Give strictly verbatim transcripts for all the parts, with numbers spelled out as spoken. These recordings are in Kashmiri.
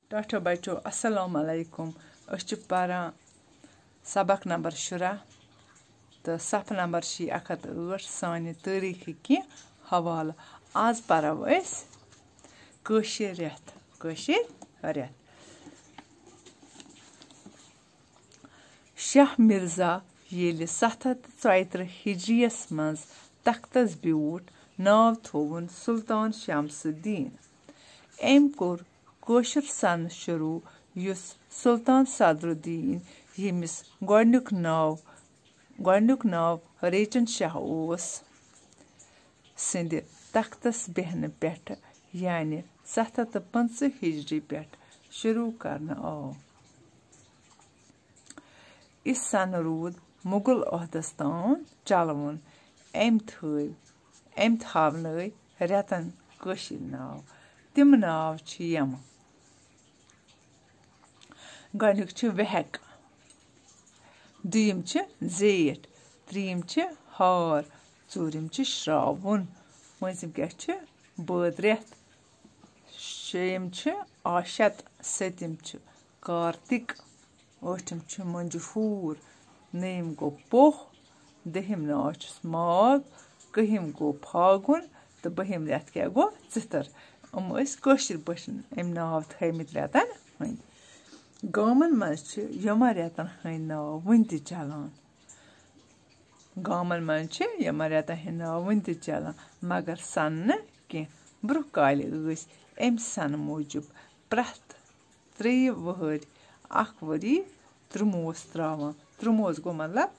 ٹاٹھو بچو، السلام علیکم۔ أسۍ چھِ پران سبق نمبر شُراہ تہٕ صفحہٕ نمبر چھِ اکھ ہتھ ٲٹھ، سانہِ تٲریٖخٕکۍ کینٛہہ حوالہٕ۔ آز پرو أسۍ کٲشِر رٮ۪تھ، کٲشِر رٮ۪تھ۔ شاہ مرزا ییٚلہِ ستھ ہتھ تہٕ ژۄیہِ ترٕٛہ ہجریَس منٛز تختس بیوٗٹھ، ناو تھووُن سلطان شمس الدین۔ أمۍ کوٚر کٲشُر سنہٕ شروٗع، یُس سلطان صدر الدین، ییٚمِس گۄڈٕنیُک ناو، گۄڈٕنیُک ناو ریچن شاہ اوس، سٕنٛدِ تختس بیہنہٕ پٮ۪ٹھٕ، یعنی ستھ ہتھ تہٕ پٕنٛژٕہ ہجری پٮ۪ٹھ شروٗع کرنہٕ آو۔ یہِ سنہٕ روٗد مغل عہدس تام چلوُن۔ أمۍ تھٲوۍ، أمۍ تھاونٲوۍ رٮ۪تن کٲشِرۍ ناو۔ تِم ناو چھِ یِم۔ گۄڈٕنیُک چھُ وہک، دوٚیِم چھِ زیٹھ، ترٛیٚیِم چھِ ہار، ژوٗرِم چھِ شراوُن، پوٗنٛژِم کیٛاہ چھِ؟ بٲد رٮ۪تھ، شیٚیِم چھِ آشت، سٔتِم چھِ کارتِک، ٲٹھِم چھُ مۄنجہِ پھوٗر، نٔیِم گوٚو پوہ، دٔہِم ناو چھُس ماگ، کٔہِم گوٚو پھاگُن تہٕ بٔہِم رٮ۪تھ کیٛاہ گوٚو؟ ژِتھر۔ یِم ٲسۍ کٲشِر پٲٹھۍ أمۍ ناو تھٲومٕتۍ رٮ۪تن ہٕنٛدۍ۔ گامن منٛز چھِ یِمن رٮ۪تن ہٕنٛدۍ ناو وُنہِ تہِ چلان۔ گامن منٛز چھِ یِمن رٮ۪تن ہٕنٛدۍ ناو وُنہِ تہِ چلان، مگر سنہٕ نہٕ کینٛہہ۔ برٛونٛہہ کالہِ ٲسۍ اَمہِ سنہٕ موٗجوٗب پرٛٮ۪تھ ترٛیٚیہِ وٕہٕرۍ اکھ ؤری ترٛوموس ترٛاوان۔ ترٛوموس گوٚو مطلب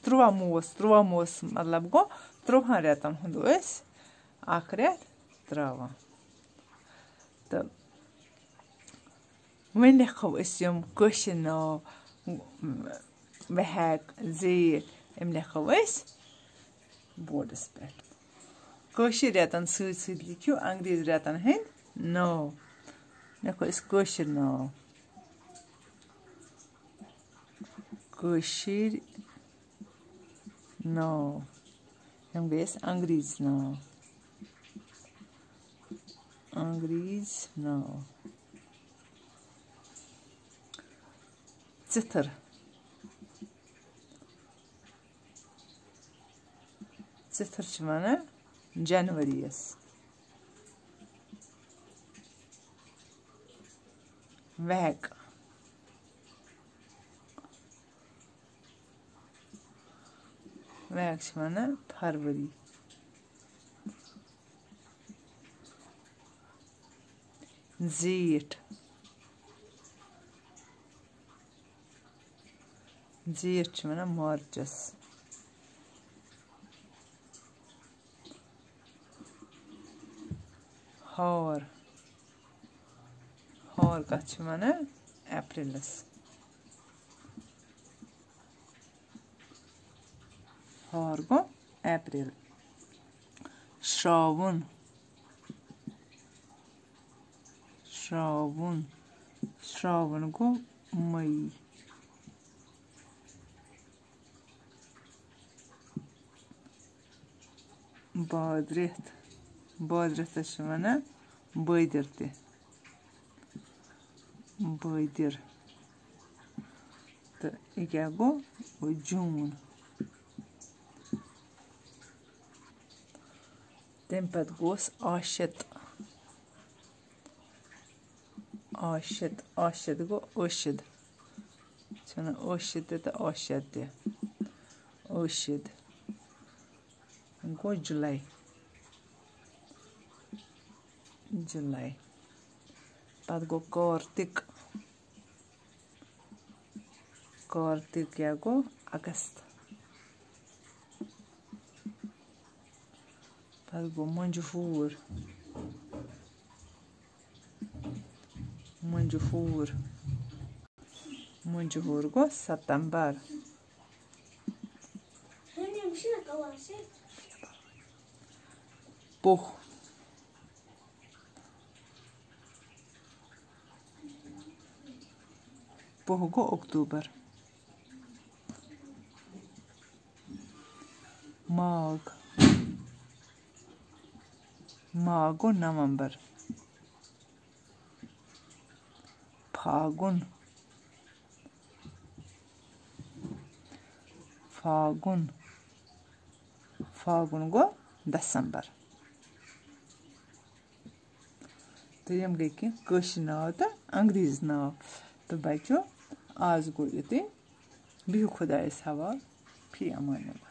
ترٛوموس، ترٛوموس مطلب گوٚو ترٛوہن رٮ۪تن ہُنٛد ٲسۍ اکھ رٮ۪تھ ترٛاوان۔ تہٕ وۄنۍ لیکھو أسۍ یِم کٲشِر ناو، وہک، زیٹھ، یِم لیکھو أسۍ بورڈس پٮ۪ٹھ۔ کٲشِر رٮ۪تن سۭتۍ سۭتۍ لیکھِو انگریز رٮ۪تن ہٕنٛدۍ ناو۔ لیکھو أسۍ کٲشِر ناو۔ کٲشِر ناو۔ یِم گٔے اَسہِ انگریزۍ ناو۔ انگریزۍ ناو۔ ژِتھر۔ ژِتھر چھِ وَنان جنؤریَس۔ وہک۔ وہک چھِ وَنان فروری۔ زیٹھ۔ زیٹھ چھِ وَنان مارچَس۔ ہار۔ ہار کَتھ چھِ وَنان؟ اپریلَس۔ ہار گوٚو اپریل۔ شراوُن۔ شراوُن۔ شراوُن گوٚو مئی۔ بادرٮ۪تھ۔ بادرٮ۪تھس چھِ وَنان بٲدِر تہِ۔ بٲدِر۔ تہٕ یہِ کیٛاہ گوٚو؟ گوٚو جوٗن۔ تَمہِ پَتہٕ گوٚوس آشت۔ آشت، آشت گوٚو ٲشِد۔ چھِ وَنان ٲشِد تہِ تہٕ آشت تہِ۔ ٲشِد گوٚو جُلَے۔ جُلَے۔ پَتہٕ گوٚو کارتِک۔ کارتِک کیٛاہ گوٚو؟ اگست۔ پَتہٕ گوٚو مۄنجہِ ہور۔ مۄنجہِ ہور۔ مۄنجہِ ہور گوٚو ستمبر۔ پوہ۔ پوہ گوٚو اکتوبر۔ ماگ۔ ماگ گوٚو نومبر۔ فاگُن، فاگُن، فاگُن گوٚو دسمبر۔ تہٕ یِم گٔے کینٛہہ کٲشِر ناو تہٕ انگریزی ناو۔ تہٕ بچو، آز گوٚو یُتُے۔ بِہِو خۄدایَس حوال۔ فی امان اللہ۔